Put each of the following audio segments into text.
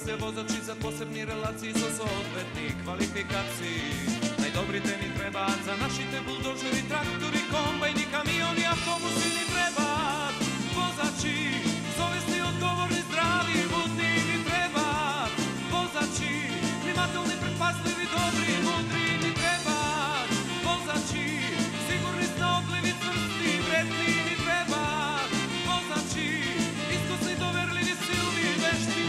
се возачи за посебни релации со соодветни квалификации. Најдобрите ни требаат за нашите булдожери, трактори, комбајни, камиони, автобуси ни требаат. Возачи, совесни, одговорни, здрави, будни ни требаат. Возачи, внимателни, предпазливи, добри, мудри ни требаат. Возачи, сигурни, снаодливи, цврсти, вредни ни требаат. Возачи, искусни, доверливи, силни, вешти,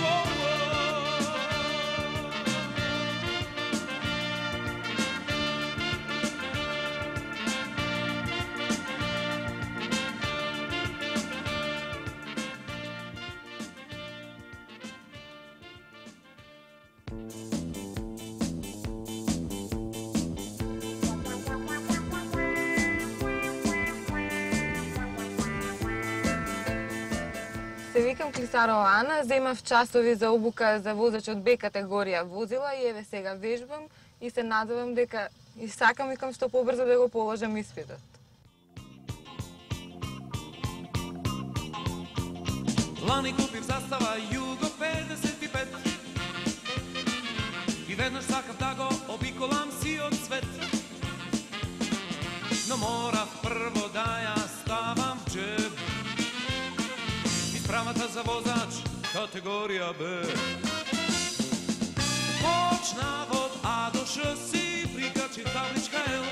Се викам Клисарова Ана, земав часови за обука за возач од Б категорија возила и еве сега вежбам и се надевам дека и сакам викам што побрзо да го положам испитот. Лани купив застава Југо 55 и веднаш сакав да го обиколам сиот свет. Но морав прво да ја ставам в джеб Правата за возач категорија Б. Почнав од А до Ш си, прикачи табличка Л.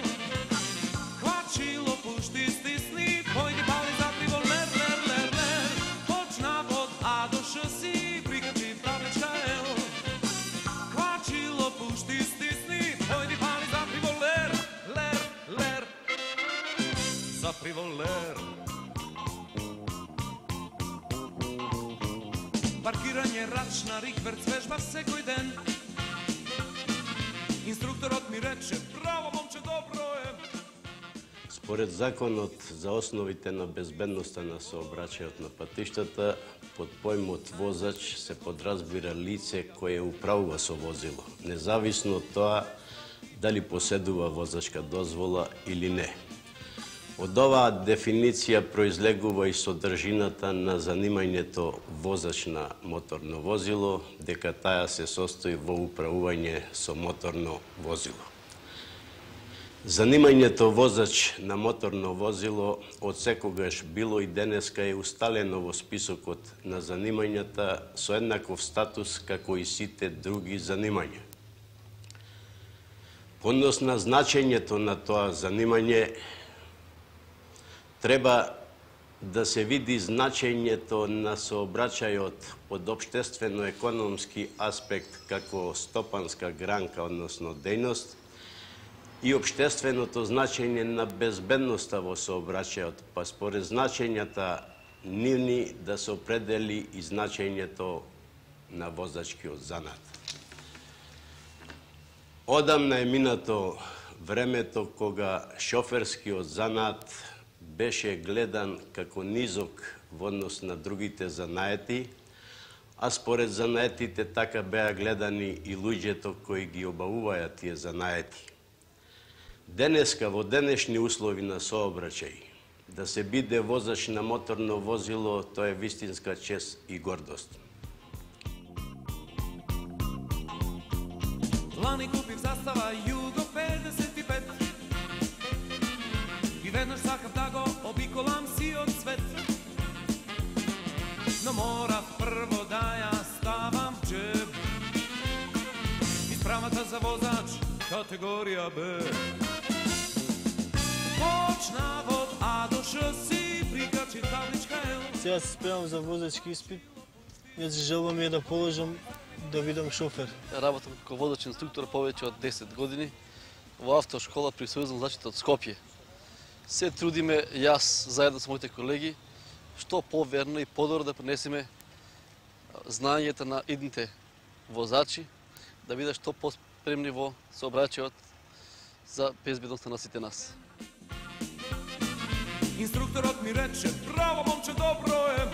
Хвачило, пушти, стисни, појди, пали, закриво, лер, лер, лер, лер. Почнав од А до Ш си, прикачи табличка Л. Хвачило, пушти, стисни, појди, пали, закриво, лер, лер, лер. Закриво, лер. Паркирање, рачна, рикверц, вежба секој ден. Инструкторот ми рече, браво, момче, добро е. Според законот за основите на безбедноста на сообраќајот на патиштата, под појмот возач се подразбира лице кое управува со возило, независно од тоа дали поседува возачка дозвола или не. Од оваа дефиниција произлегува и содржината на занимањето возач на моторно возило, дека таа се состои во управување со моторно возило. Занимањето возач на моторно возило од секогаш било и денеска е усталено во списокот на занимањата со еднаков статус како и сите други занимања. По однос на значењето на тоа занимање, треба да се види значењето на сообраќајот од општествено-економски аспект како стопанска гранка, односно дејност, и општественото значење на безбедноста во сообраќајот, па според значењата нивни да се определи и значењето на возачкиот занат. Одамна е минато времето кога шоферскиот занат беше гледан како низок во однос на другите занаети, а според занаетите така беа гледани и луѓето кои ги обавуваја тие занаети. Денеска, во денешни услови на сообраќај, да се биде возач на моторно возило, тоа е вистинска чест и гордост. Лани купив застава Југо 55 и веднаш сакав да го обиколам сиот свет. Но морав прво да ја ставам в джеб Исправата за возач категорија Б. Почнав од А до Ш си, прикачи табличка Л. Сега се спремам за возачки испит. Веќе желбам е да положам да бидам шофер. Работам како водач инструктор повеќе од 10 години во автошкола при Сојузно зачето од Скопје. Се трудиме јас заедно со моите колеги што поверно и подобро да пренесеме знањето на идните возачи, да бидат што поспремни во сообраќајот за безбедноста на сите нас. Инструкторот ми рече, браво, момче, добро е.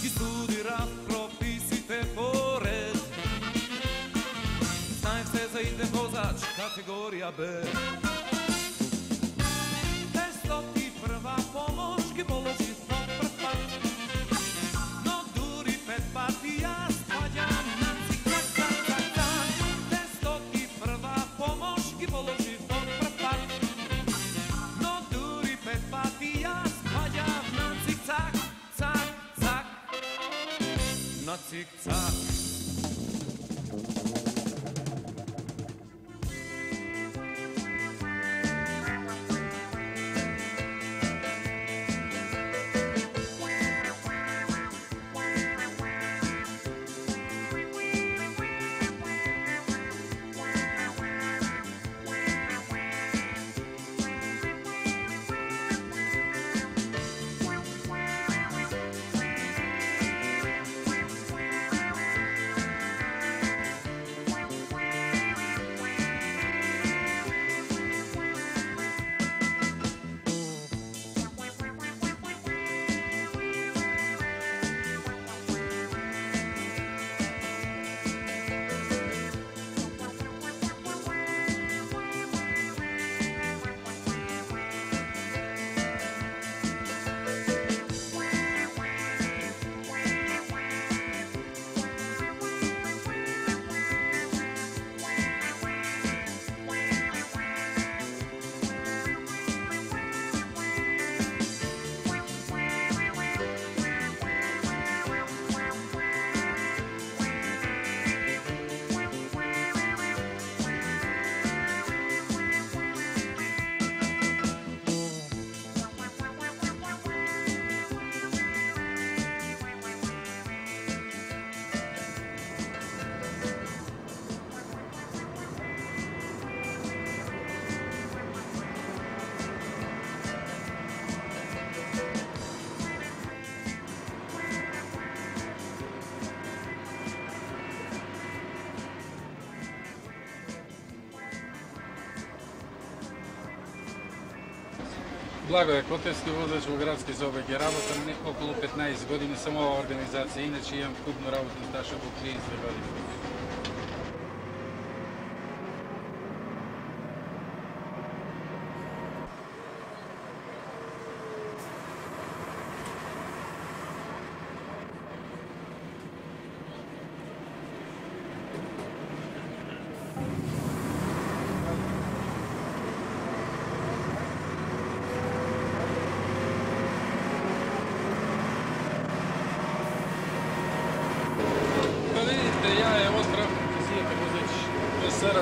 Ги студирав прописите по ред. Знаев се за иден возач категорија Б. Тестоти прва помош ги положи со прв пат. Но дури 5 пати јас цик-цак. Благоје Котевски, возач во градски сообраќај, работам околу 15 години само оваа организација, иначе имам купно работен стаж околу 30 години.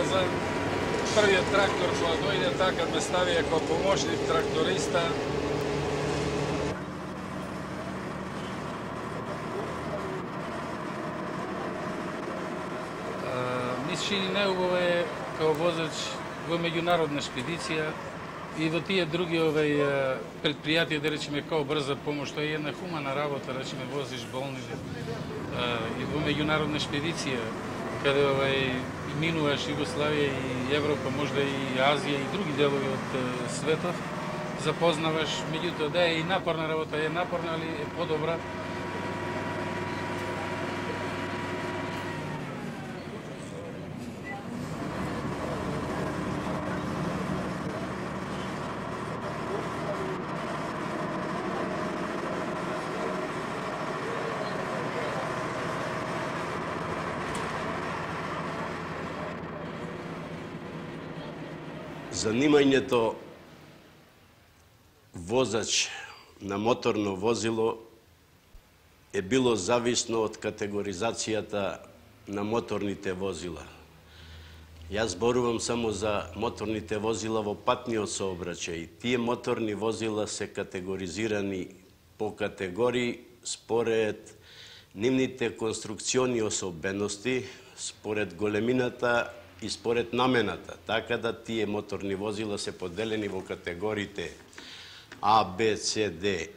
За првиот трактор кога дојде така ме ставија како помошник тракториста. Ми се чини најубаво како возач во меѓународна шпедиција и во тие други предпријатија, да речеме, како брза помош, тоа е една хумана работа, да речеме, возиш болни и во меѓународна шпедиција, каде минуваш Југославија и Европа, можда и Азија и други делови од светот, запознаваш, меѓутоа да е и напорна работа, е напорна, али е подобра. Занимањето возач на моторно возило е било зависно од категоризацијата на моторните возила. Јас зборувам само за моторните возила во патниот сообраќај. Тие моторни возила се категоризирани по категории според нивните конструкциони особености, според големината и според намената, така да тие моторни возила се поделени во категориите А, Б, С, Д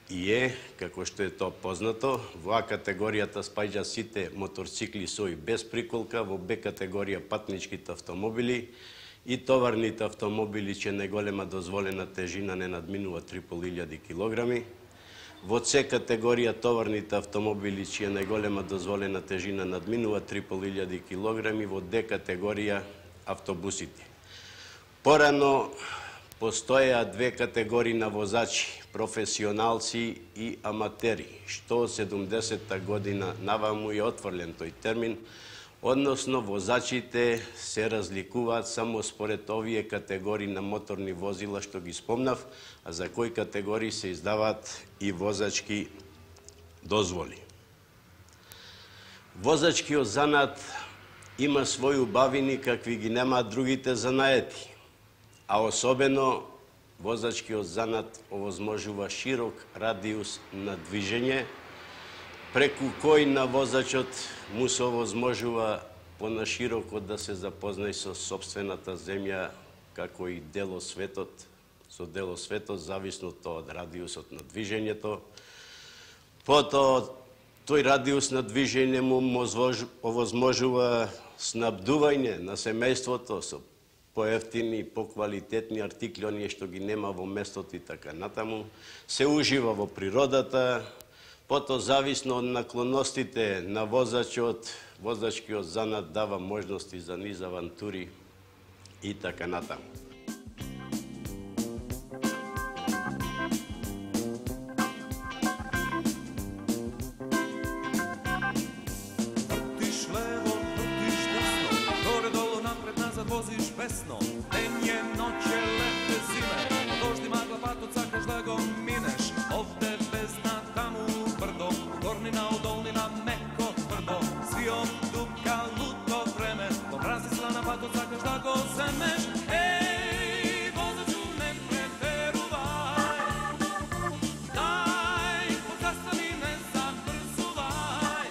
и Е, како што е тоа познато. Во А категоријата спаѓа сите моторцикли со и без приколка, во Б категорија патничките автомобили и товарните автомобили, чија најголема дозволена тежина не надминува 3500 килограми. Во С категорија товарните автомобили, чија најголема дозволена тежина надминува 3500 килограми, во Д категорија автобусите. Порано постоеа две категории на возачи, професионалци и аматери, што од 70-та година наваму е отврлен тој термин, односно возачите се разликуваат само според овие категории на моторни возила што ги спомнав, а за кои категории се издаваат и возачки дозволи. Возачкиот занат има своји убавини какви ги немаат другите занаети, а особено возачкиот занат овозможува широк радиус на движење, преку кој на возачот му се овозможува понашироко да се запознае со сопствената земја, како и делосветот, со делосветот зависно од радиусот на движењето. Потоа, тој радиус на движење му овозможува снабдување на семејството со поевтини, поквалитетни артикли, оние што ги нема во местото и така натаму. Се ужива во природата, потоа зависно од наклоностите на возачот, возачкиот занат дава можности за низ авантури и така натаму. Возиш бесно, ден е, ноќ е, лете, зиме, дожди, магла, патот, сакаш да го минеш, овде бездна, таму брдо, горнина, одолнина, меко, тврдо, свиот, дупка, луто време, до мрази слана, патот, сакаш да го земеш, еј, возачу, не претерувај, дај, покастани, не забрзувај,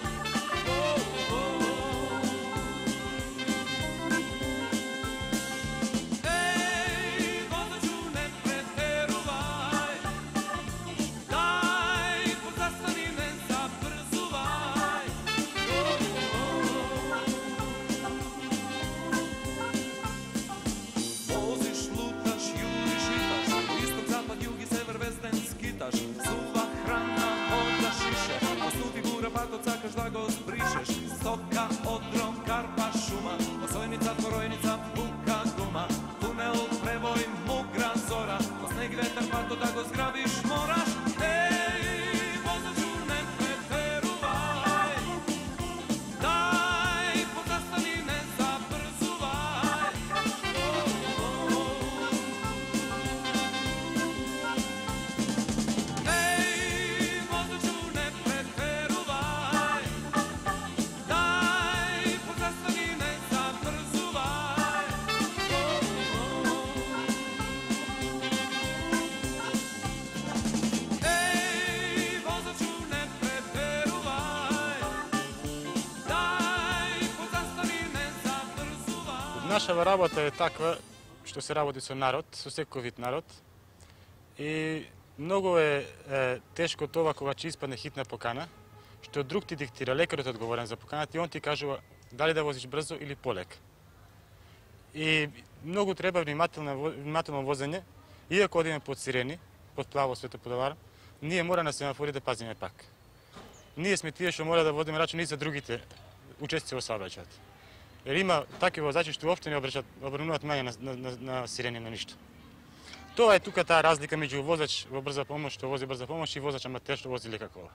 сува храна, вода, шише, оснути бура, патот, сакаш да го збришеш, стока, одром, карпа, шума, осојница, творојница, бука, гума, тунел, превој, мугра, зора, по снег, ветер, патот, да го зграбиш, мораш, еј, возачу, не претерувај, дај, позастани, не забрзувај, Нашава работа е таква што се работи со народ, со секој вид народ. И многу е тешко тоа кога ќе испадне хитна покана, што друг ти диктира, лекарот е одговорен за поканата и он ти кажува дали да возиш брзо или полек. И многу треба внимателно возење, иако одиме под сирени, под плаво светоподавар, ние мора на семафори да пазиме пак. Ние сме тие што мора да водиме рачун и за другите учесници во сообраќајот. Jer ima takvi vozači što uopšte ne obrnuvati manje na sireni, na ništa. To je tuka ta razlika među vozač brza pomoć što vozi brza pomoć i vozač amater što vozi leka kola.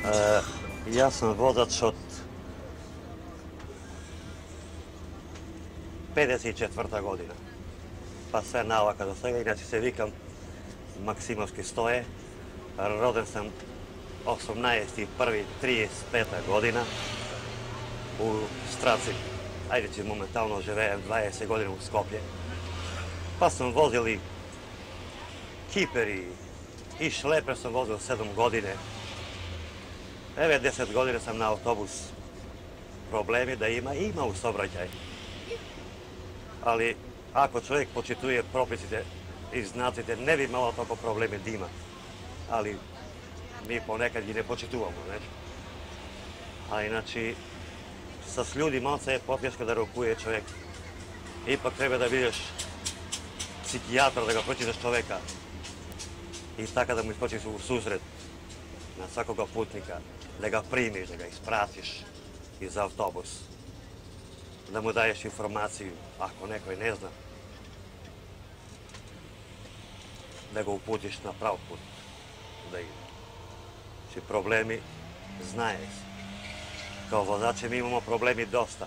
Јас сум возач од 54 година. Па се навака до сега, иначе се викам Максимовски Стоје. Роден сам 18.1.35 година у Страци. Ајде че моментално живеем 20 години у Скопје. Па сум возил и кипери и шлепер сум возил 7 години. Еве 10 години сам на автобус. Проблеми да има у сообраќај. Али ако човек почитuje прописите и знаците, не би имало толку проблеми да има. Али ми понекад ги не почитуваме, не? А иначе с луѓе малце е потешко да рокуе човек. Ипак треба да бидеш психијатар да го прочиташ човека и така да му искочиш у сусрет на секога путника, да го примиш, да го испратиш из автобус, да му даеш информација, ако некој не зна, да го упутиш на прав пут, да иде. Че проблеми знаеш. Као возачи ми имамо проблеми доста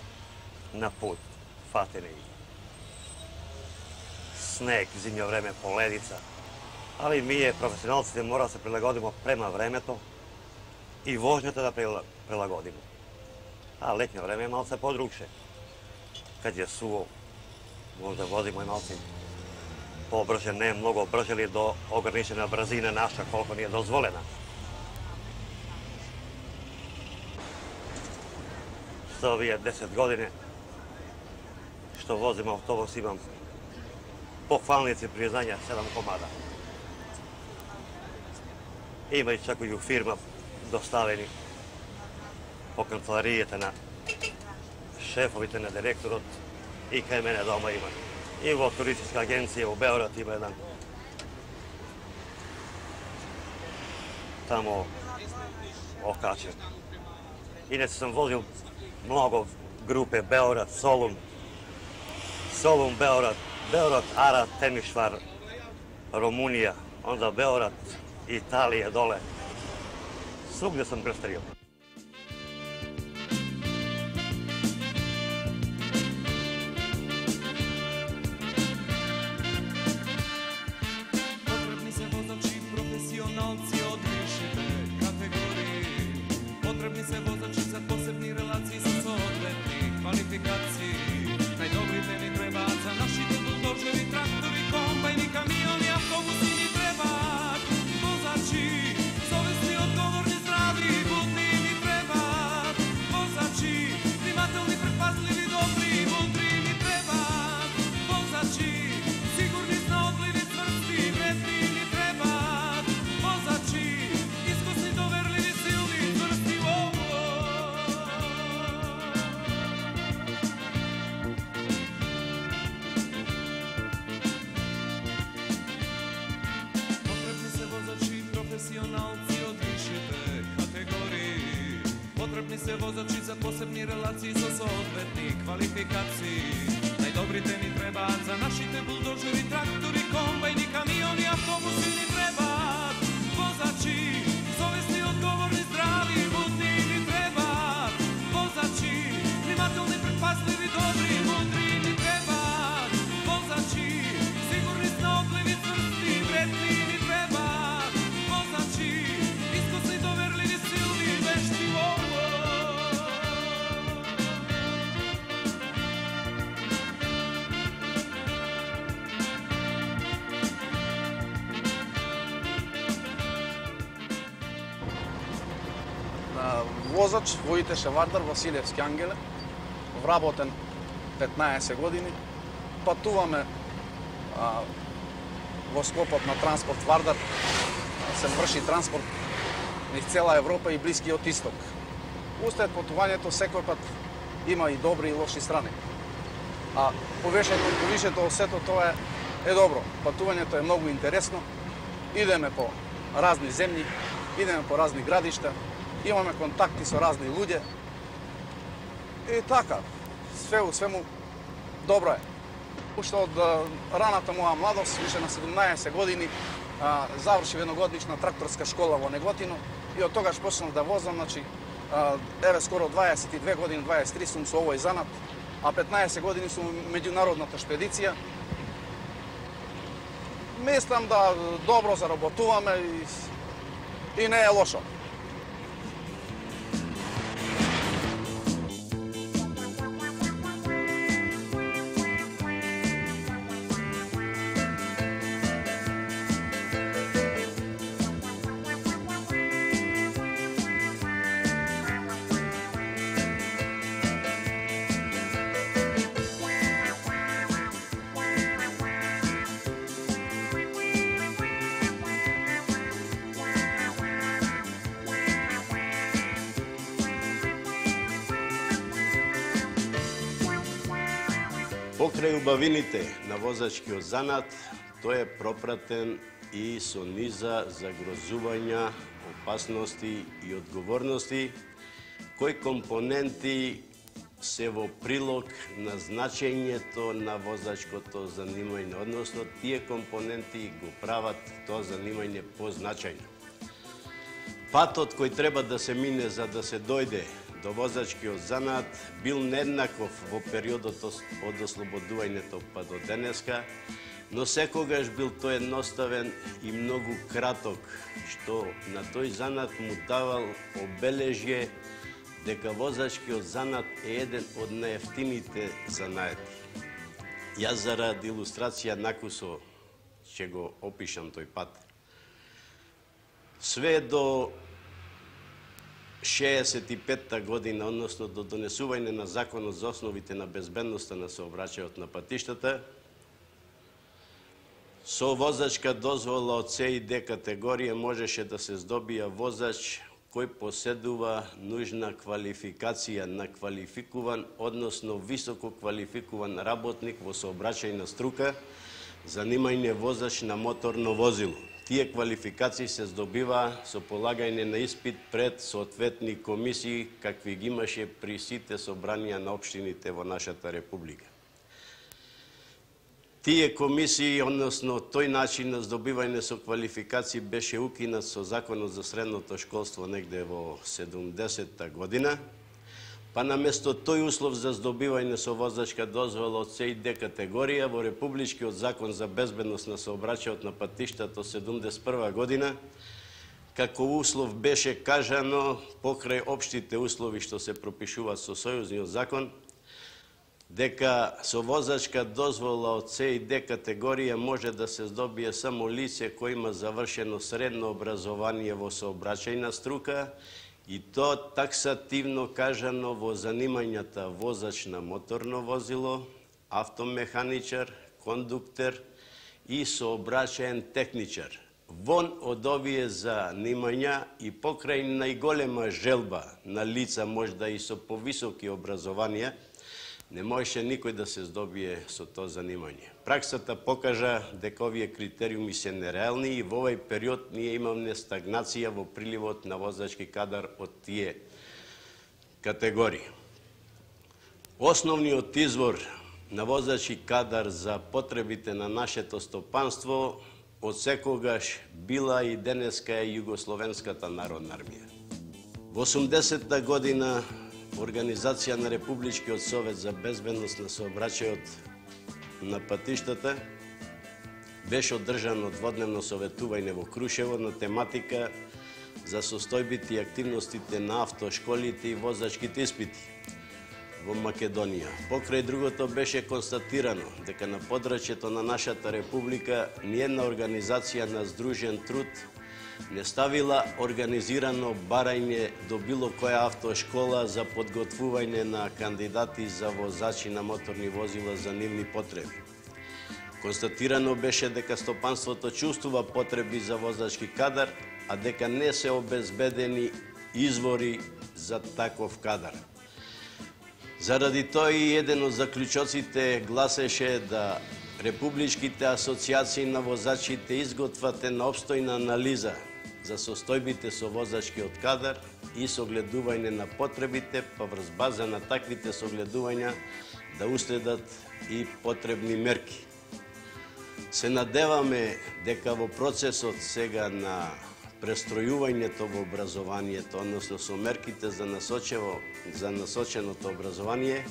на пут, фатени. Снег, зимно време, поледица. Али ние, професионалците, мора да се прилагодимо према времето и возњата да прилагодимо. А летно време е малце подрукше. Кад е суво, може да возимо и малце побрже, не многу брже ли до ограничена брзина наша, колко ни е дозволена. За овие 10 години што возим автобус имам похвалници признања 7 комада. Има и чак и у фирма доставени по канцеларијата на шефовите на директорот и кај мене дома има. И во туристичка агенција у Београд има еден. Тамо окачен. Иначе сам возил многу групе Београд, Солун, Београд, Ара, Темишвар, Румунија, онда Београд, Италија доле. Свугде сам крстарил. Потребни се возачи, професионалци од вишите категории. Потребни се возачи за посебни релации со соодветни квалификации. Најдобрите ни требаат за нашите булдожери, трактори, комбајни, камиони, автобуси ни требаат. Возачи, совесни, одговорни, здрави и будни ни требаат. Возачи, внимателни, предпазливи, добри и мудри ни требаат. Возачи, сигурни, знаодливи, цврсти и вредни ни требаат. Возачи, искусни, доверливи, силни, цврсти, професионалци од вишите категории. Потребни се возачи за посебни релации со соодветни квалификации. Најдобрите ни требаат за нашите булдожери, трактори, комбајни, камиони, автобуси ни требаат. Возачи, совесни, одговорни, здрави и будни ни требаат. Возачи, внимателни, предпазливи, добри и мудри ни требаат. Возачи, сигурни, знаодливи, цврсти и вредни ни требаат. Возачи, искусни, доверливи, силни и вешти. Возач, водител шевардар Василевски Ангеле, вработен 15 години. Патуваме во склопот на транспорт Вардар, се врши транспорт низ цела Европа и Блискиот Исток. Устед патувањето секој пат има и добри и лоши страни. А повишето од сето тоа е добро. Патувањето е многу интересно. Идеме по разни земји, идеме по разни градишта, имаме контакти со разни луѓе. И така, све у свему добро е. Уште од раната моја младост, више на 17 години, завршив едногодишна тракторска школа во Неготино и од тогаш почнав да возам, значи еве скоро 22 години, 23 сум со овој занат, а 15 години сум меѓународната шпедиција. Мислам да добро заработуваме и не е лошо. Покрај убавините на возачкиот занат, тој е пропратен и со низа загрозувања, опасности и одговорности, кои компоненти се во прилог на значењето на возачкото занимање, односно тие компоненти го прават тоа занимање позначајно. Патот кој треба да се мине за да се дојде до возачкиот занат бил нееднаков во периодот од ослободувањето па до денеска, но секогаш бил тој едноставен и многу краток, што на тој занат му давал обележје дека возачкиот занат е еден од најевтините занаети. Јас заради илустрација накусо ќе го опишам тој пат. Све до 65-та година, односно до донесување на Законот за основите на безбедноста на сообраќајот на патиштата, со возачка дозвола од С и Д категорија можеше да се здобија воzač кој поседува нужна квалификација на квалификуван, односно високо квалификуван работник во сообраќајна струка, занимање возач на моторно возило. Тие квалификации се здобива со полагање на испит пред соодветни комисии, какви ги имаше при сите собранија на општините во нашата република. Тие комисии, односно тој начин на здобивање со квалификации беше укинат со Законот за средното школство негде во 70-та година, па наместо тој услов за здобивање со возачка дозвола од С и Д категорија во Републичкиот закон за безбедност на сообраќајот на патиштата од 71 година, како услов беше кажано покрај општите услови што се пропишуваат со сојузниот закон, дека со возачка дозвола од С и Д категорија може да се здобие само лице кој има завршено средно образование во сообраќајна струка, и то таксативно кажано во занимањата возач на моторно возило, автомеханичар, кондуктер и сообраќаен техничар. Вон од овие занимања и покрај најголема желба на лица, можда и со повисоки образованија, не можеше никој да се здобие со тоа занимање. Праксата покажа дека овие критериуми се нереални и во овој период ние имаме стагнација во приливот на возачки кадар од тие категории. Основниот извор на возачки кадар за потребите на нашето стопанство од секогаш била и денеска е Југословенската народна армија. Во 80-та година Организација на Републичкиот совет за безбедност на сообраќајот на патиштата беше одржано дводневно советување во Крушево на тематика за состојбите и активностите на автошколите и возачките испити во Македонија. Покрај другото беше констатирано дека на подрачјето на нашата република ниедна организација на здружен труд не ставила организирано барање до било која автошкола за подготвување на кандидати за возачи на моторни возила за нивни потреби. Констатирано беше дека стопанството чувствува потреби за возачки кадар, а дека не се обезбедени извори за таков кадар. Заради тоа и еден од заклучоците гласеше да републичките асоциации на возачите изготват една обстојна анализа за состојбите со возачкиот кадар и согледување на потребите, па врз база на таквите согледувања да уследат и потребни мерки. Се надеваме дека во процесот сега на престројувањето во образованието, односно со мерките за насоченото образование,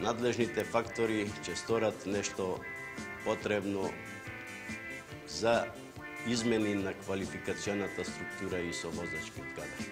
надлежните фактори ќе сторат нешто потребно за измени на квалификационата структура и со возачкиот кадар.